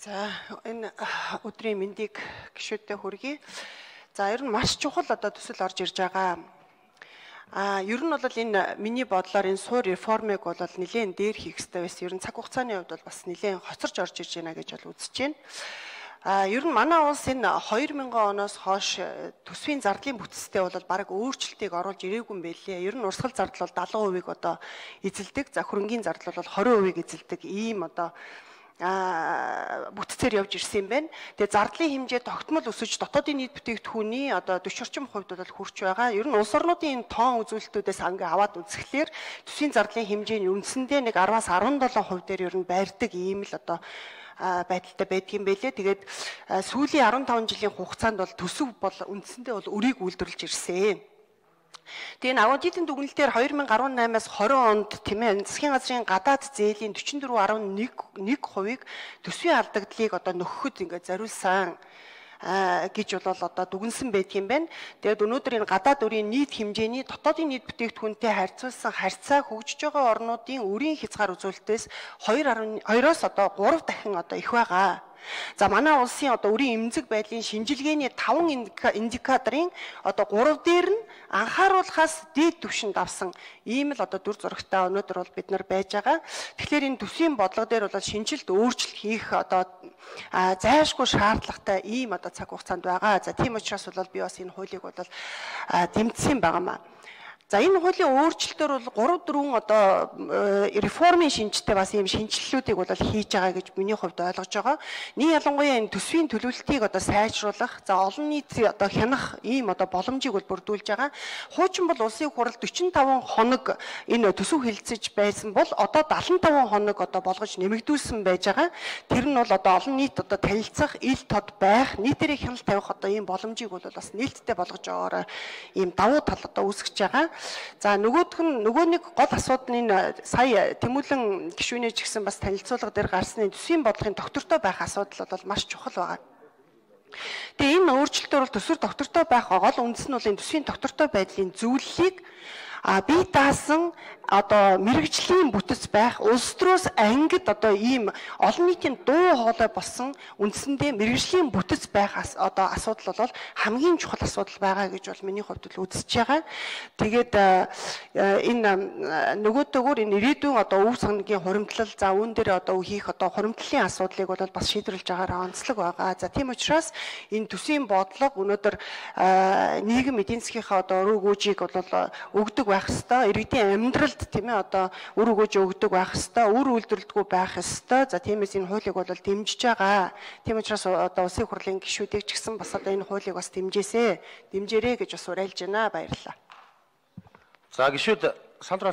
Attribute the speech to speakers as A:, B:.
A: За энэ өдрийн мэндийг гишүүдтэй хүргэе. За ер нь маш чухал одоо төсөл орж ирж байгаа. Ер нь бол энэ миний бодлоор энэ суур реформыг бол нэлээд дээр хийх хэрэгтэй байсан. Ер нь цаг хугацааны хувьд бол бас нэлээд хоцорч орж ирж байна гэж бол үзэж байна. Ер нь манай улс энэ 2000 оноос хойш төсвийн зардлын бүтцтэй бол баг өөрчлөлтийг оруулж ирээгүй юм байлээ. Ер нь урсгал зардал бол 70% одоо эзэлдэг. За хөрөнгийн зардал бол 20% эзэлдэг. Ийм одоо бүтцээр явж ирсэн юм байна. Тэгээ зардлын хэмжээ тогтмол өсөж дотоодын нийт бүтээгдэхүүний одоо 40 орчим хувьд бол хүрч байгаа. Ер нь улс орнуудын тоон үзүүлэлтүүдээс ингээ аваад үзэхлээр төсвийн зардлын хэмжээний үндсэндээ нэг 10-аас 17% дээр ер нь байрдаг ийм л одоо байдалтай байдгийн байлээ. Тэгээд сүүлийн 15 жилийн хугацаанд бол төсөв бол үндсэндээ бол өрийг үйлдвэрлэж ирсэн. Тэгээ аудитын дүгнэлтээр 2018-аас 20 онд тийм ээ засгийн газрын гадаад зээлийн 44.1%-ийг төсвийн алдагдлыг одоо нөхөхөд ингээд зориулсан гэж бол одоо дүгнсэн байдгийн байна. Тэгээд өнөөдөр энэ гадаад өрийн нийт хэмжээний дотоодын нийт бүтээгдэхүүнтэй харьцуулсан харьцаа хөгжиж байгаа орнуудын өрийн хязгаар үзүүлэлтээс 2.2-оос одоо 3 дахин одоо их байгаа. За манай улсын одоо өрийн эмзэг байдлын шинжилгээний 5 индикаторын одоо 3 дээр нь анхааруулахаас дээд түвшинд авсан ийм л одоо дүр зурагтай өнөөдөр бол бид нар байж байгаа. Тэгэхээр энэ төсвийн бодлого дээр бол шинжилт өөрчлөлт хийх одоо зайлшгүй шаардлагатай ийм одоо цаг хугацаанд байгаа. За тийм учраас бол би бас энэ хуулийг бол тэмцсэн байгаамаа. За энэ хуулийн өөрчлөлтөөр бол 3-4 одоо реформын шинжтэй бас ийм шинжилэлүүдийг бол хийж байгаа гэж миний хувьд ойлгож байгаа. Нэг ялангуяа энэ төсвийн төлөвлөлтийг одоо сайжруулах, за олон нийт одоо хянах ийм одоо боломжийг бол бүрдүүлж байгаа. Хуучин бол улсын хурал 45 хоног энэ төсөв хэлэлцэж байсан бол одоо 75 хоног одоо болгож нэмэгдүүлсэн байж байгаа. Тэр нь бол одоо олон нийт одоо танилцах, ил тод байх, нийтээрээ хяналт тавих одоо ийм боломжийг бол бас нээлттэй болгож байгаараа ийм давуу тал одоо үүсгэж байгаа. За нөгөө нэг гол асуудал нь сая Тэмүүлэн гишүүнээ ч гэсэн бас танилцуулга дээр гарсны төсвийн бодлогын доктортой байх асуудал бол маш чухал байгаа. Тэгээ энэ өөрчлөлтөөр бол төсвөр доктортой байх гол үндэс нь бол энэ төсвийн доктортой байдлын зөвлөлийг бие даасан одоо мэрэгжлийн бүтэц байх улс төрөөс ангид одоо ийм олон нийтийн дуу хоолой болсон үндсэндээ мэрэгжлийн бүтэц байх одоо асуудал бол хамгийн чухал асуудал байгаа гэж бол миний хувьд л үзэж байгаа. Тэгээд энэ нөгөөдөөгөр энэ ирээдүйн одоо өв сангийн хуримтлал за үүн дээр одоо хийх одоо хуримтлалын асуудлыг бол бас шийдвэрлэж байгаараа онцлог байгаа. За тийм учраас энэ төсвийн бодлого өнөөдөр нийгэм эдийн засгийнхаа одоо өрөө гүйжийг бол өгдөг байх ёстой. Иргэдийн амьдралд тийм ээ одоо үр өгөөж өгдөг байх ёстой, үр үйлдвэрлэлгүй байх ёстой. За тиймээс энэ хуулийг бол дэмжиж байгаа. Тийм учраас одоо улсын хурлын гишүүдийг ч гэсэн бас одоо энэ хуулийг бас дэмжээрэй гэж бас уриалж байна. Баярлалаа.
B: За гишүүд сандрал